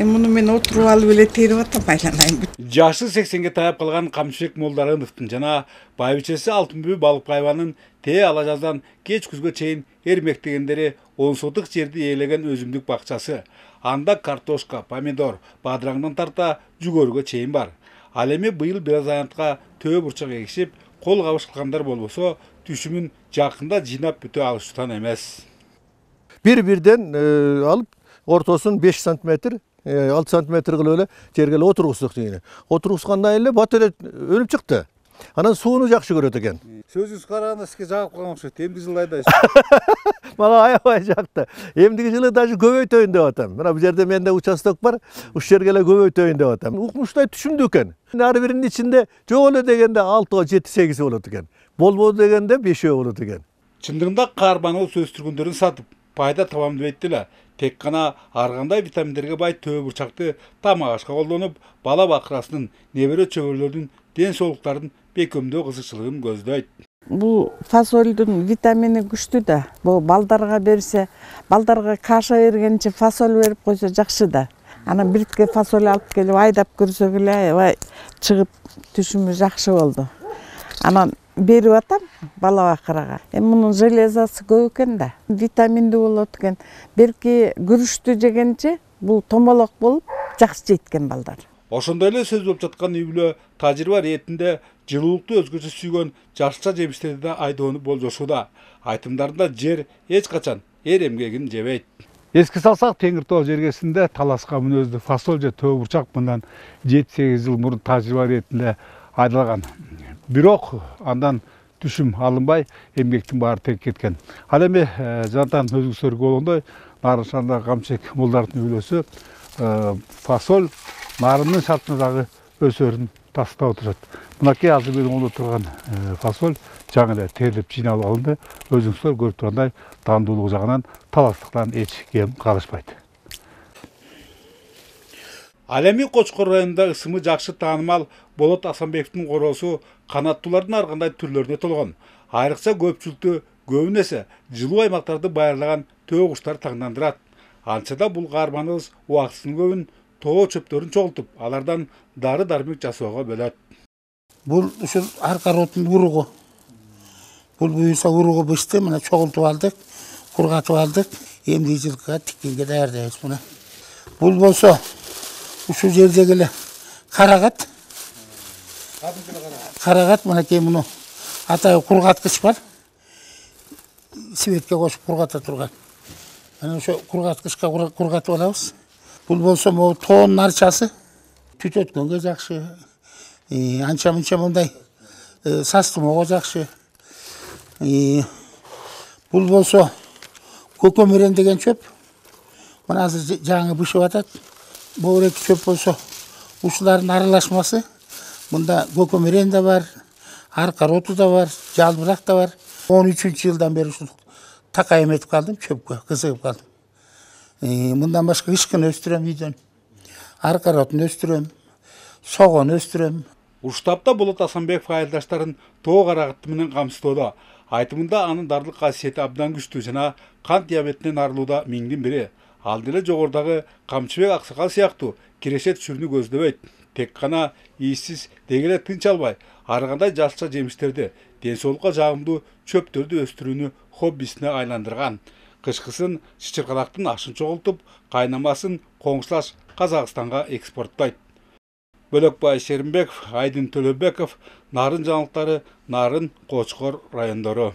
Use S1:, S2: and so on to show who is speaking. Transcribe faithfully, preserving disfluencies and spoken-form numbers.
S1: Эми муну мен отуруп алып эле терип атам, айланайын.
S2: Жашы сексенге таяп калган Камчыбек Молдарыновдун жана байбичеси Алтынбү балык пайванын тээ ала жаздан кеч күзгө чейин эрмектегендери он сотук жерди ээлеген өзүмдүк бакчасы. Анда картошка, помидор, бадыраңдан тарта жүгөрүгө чейин бар. Ал эми быйыл бир аз аянтка төө бурчак эгишип, кол кабыш кылгандар болбосо, түшүмүн жакында жыйнап бүтө алышчудан эмес.
S3: Бир-бирден алып, ортосун беш сантиметр, алты сантиметр кылып эле жерге эле отургуздук дейли. Отургузгандан эле бат эле өнүп чыкты. Анан сууну жакшы көрөт экен.
S2: Сөзүңүз караганда сизге жагып калган окшойт. Эмдиги жылы айдайсыз?
S3: Мага аябай жакты. Эмдиги жылы даже көбөйтөйүн деп атам. Мына бул жерде менде участок бар, ушул жерге эле көбөйтөйүн деп атам. Укмуштай түшүмдүү экен. Ар биринин ичинде жок эле дегенде алтыга жети сегизи болот экен. Болбоду дегенде бешөө болот экен.
S2: Чындыгында карбаноз өстүргөндөрүн сатып, пайда табам дебейт эле. Тек гана ар кандай витаминдерге бай төө бурчакты тамак ашка колдонуп, бала бакырасынын, небере чөбүрлөрдүн ден соолуктарын бекемдөө кызыкчылыгын көздөйт.
S1: Бул фасолдун витамини күчтүү да. Бул балдарга берсе, балдарга каша бергенче фасоль берип койсо жакшы да. Анан биртке фасоль алып келип айдап көрсөк эле аябай чыгып түшүмү жакшы болду. Анан берип атам бала бакырага. Эми мунун железасы көп экен да. Витаминдүү болот экен. Берки күрүчтү жегенче бул томолок болуп жакшы жейт экен балдар.
S2: Ошондой эле сөз болуп жаткан үй бүлө тажрыйба иретинде жылуулукту өзгөчө сүйгөн жашча жемиштерди да айдоону болжошууда. Айтымдарында жер эч качан эр эмгегин жебейт. Эске салсак, Теңир Тоо жергесинде таласка мүнөздүү фасоль же төө бурчак мындан жети сегиз жыл мурун тажрыйба иретинде айдалган. Бирок андан түшүм алынбай, эмгектин баары тег кеткен. Ал эми жантан өзүңүздөр көргөндөй, Нарыншанда Камчыбек Молдаровдун үй бүлөсү фасоль нарынын шартына дагы өсөрүн тастап отурат. Мынакей азыр менин колдо турган фасоль жаңы эле терилип жыйналып алынды. Өзүңүздөр көрүп тургандай дандуулугу жагынан таластыктан эч кем калышпайт. Ал эми Кочкор районунда ысымы жакшы таанымал Болот Асанбековдун короосу канаттуулардын ар кандай түрлөрүнө толгон. Айрыкча көпчүлүктү көбүн эсе жылуу аймактарды байырлаган төө куштар таңдандырат. Анчада бул карбаноз убактысынын көбүн тоо чөптөрүн чогултуп, алардан дары-дармек жасоого бөлөт.
S4: Бул ушул арка ротун уругу. Бул буюрса уругу бышты, мына чогултуп алдык, кургатып алдык. Эмди жылкыга тиккенге даярдайбыз мына. Бул болсо ушул жердеги эле карагат. Карагат мынакей муну атайы кургаткыч бар. Светке кошуп кургата турган. Ana ошо кургаткычка кургатып алабыз. Бул болсо могу тоонун арчасы. Түт өткөнгө жакшы. Анча мынча мындай састымоого жакшы. Бул болсо көкөмөрен деген чөп. Мына азыр жаңы бышып атат. Бул эки чөп болсо ушулардын аралашмасы. Мында көкөмөрен да бар, арка роту да бар, жалбырак да бар. он үчүнчү жылдан бери ушул такай эметип калдым, чөпкө кызыгып калдым. Мындан башка ышкын өстүрөм үйдөн. Арка ротун өстүрөм, согон өстүрөм.
S2: Уштапта Болот Асанбеков айылдаштарын тоо карагаты менен камсыздоодо. Айтымында анын дардылык касиети абдан күчтүү жана кант диабетинен арылууда миңдин бири. Ал деле жогорудагы Камчыбек аксакал сыяктуу киреше түшүрүүнү көздөбөйт. Тек гана ийсиз деги эле тынч албай, ар кандай жашча жемиштерди, ден соолукка жагымдуу чөптөрдү өстүрүүнү хоббисине айландырган. Кышкысын чычыркалактын ашын чогултуп, кайнамасын коңшулаш Казакстанга экспорттойт. Бөлөкбай Шеримбеков, Айдын Төлөбеков, Нарын жаңылыктары, Нарын, Кочкор райондору.